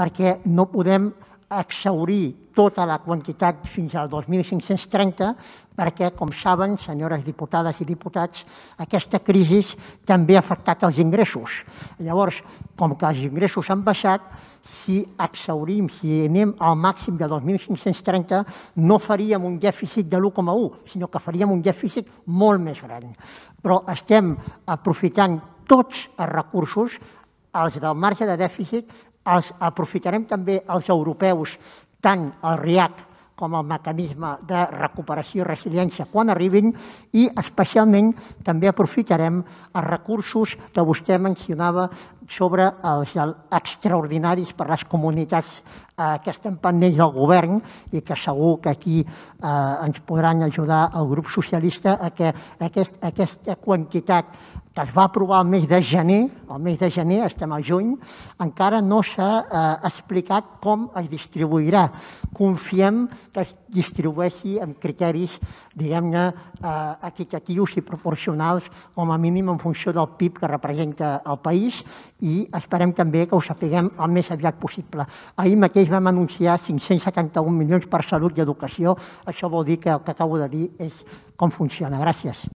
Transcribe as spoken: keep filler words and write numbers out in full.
perquè no podem exhaurir tota la quantitat fins al dos mil cinc-cents trenta perquè, com saben, senyores diputades i diputats, aquesta crisi també ha afectat els ingressos. Llavors, com que els ingressos han baixat, si exhaurim, si anem al màxim de dos mil cinc-cents trenta, no faríem un dèficit de l'u coma u, sinó que faríem un dèficit molt més gran. Però estem aprofitant tots els recursos, els del marge de dèficit, els aprofitarem també els europeus, tant el REACT com el mecanisme de recuperació i resiliència quan arribin, i especialment també aprofitarem els recursos que vostè mencionava sobre els extraordinaris per a les comunitats que estem pendents del govern i que segur que aquí ens podran ajudar el grup socialista a que aquesta quantitat que es va aprovar el mes de gener, el mes de gener, estem al juny, encara no s'ha explicat com es distribuirà. Confiem que es distribueixi amb criteris, diguem-ne, equitatius i proporcionals, com a mínim en funció del P I B que representa el país, i esperem també que ho sapiguem el més aviat possible. Ahir mateix vam anunciar cinc-cents setanta-un milions per salut i educació. Això vol dir que el que acabo de dir és com funciona. Gràcies.